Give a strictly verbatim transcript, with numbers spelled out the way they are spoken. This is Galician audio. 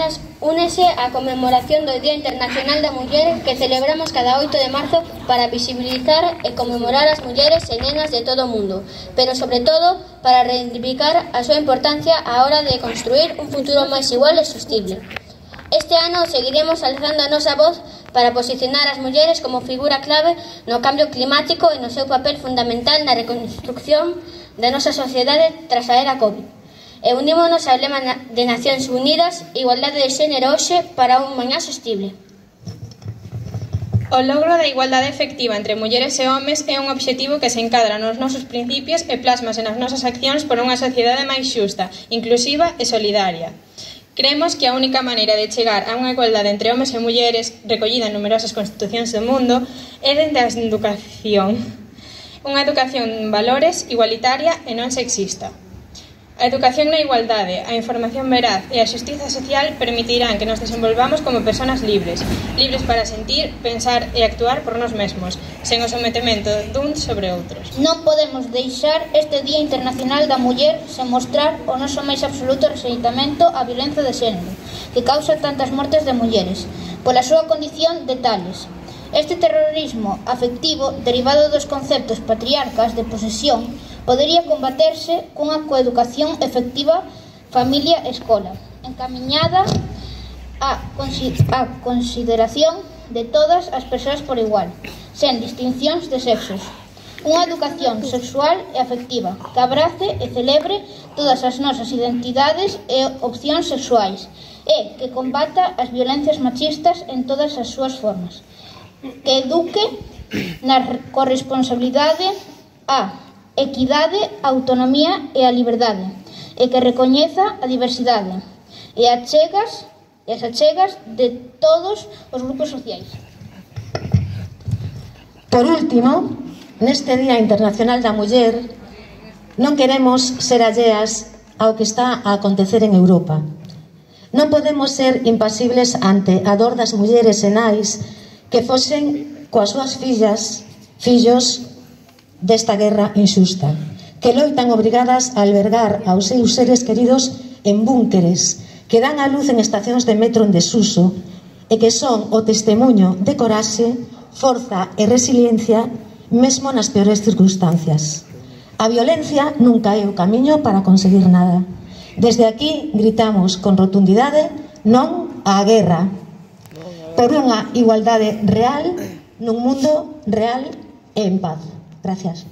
semanas únese a conmemoración do Día Internacional da Muller que celebramos cada oito de marzo para visibilizar e conmemorar as mulleres e nenas de todo o mundo, pero sobre todo para reivindicar a súa importancia á hora de construir un futuro máis igual e sostible. Este ano seguiremos alzando a nosa voz para posicionar as mulleres como figura clave no cambio climático e no seu papel fundamental na reconstrucción da nosa sociedade tras a era COVID. E unímonos ao lema de Nacións Unidas, igualdade de xénero hoxe para un mañá sostible. O logro da igualdade efectiva entre mulleres e homes é un obxectivo que se encadra nos nosos principios e plasmase nas nosas accións por unha sociedade máis xusta, inclusiva e solidaria. Creemos que a única maneira de chegar a unha igualdade entre homes e mulleres, recollida en numerosas constitucións do mundo, é dende a educación. Unha educación en valores, igualitaria e non sexista. A educación na igualdade, a información veraz e a xustiza social permitirán que nos desenvolvamos como persoas libres, libres para sentir, pensar e actuar por nós mesmos, sen o sometemento duns sobre outros. Non podemos deixar este Día Internacional da Muller sen mostrar o noso máis absoluto rexeitamento á violencia de xénero, que causa tantas mortes de mulleres, pola súa condición de tales. Este terrorismo afectivo, derivado dos conceptos patriarcas de posesión, podería combaterse cunha coeducación efectiva familia-escola, encamiñada á consideración de todas as persoas por igual, sen distincións de sexos. Unha educación sexual e afectiva que abrace e celebre todas as nosas identidades e opcións sexuais e que combata as violencias machistas en todas as súas formas, que eduque na corresponsabilidade, a equidade, a autonomía e a liberdade, e que recoñeza a diversidade e achegas e as achegas de todos os grupos sociais. Por último, neste Día Internacional da Muller, non queremos ser alleas ao que está a acontecer en Europa. Non podemos ser impasibles ante a dor das mulleres e nais que fosen coas súas fillas, fillos desta guerra injusta, que loitan obrigadas a albergar aos seus seres queridos en búnkeres, que dan a luz en estacións de metro en desuso e que son o testemunho de coraxe, forza e resiliencia mesmo nas peores circunstancias. A violencia nunca é o camiño para conseguir nada. Desde aquí gritamos con rotundidade non á guerra, por unha igualdade real nun mundo real e en paz. Gracias.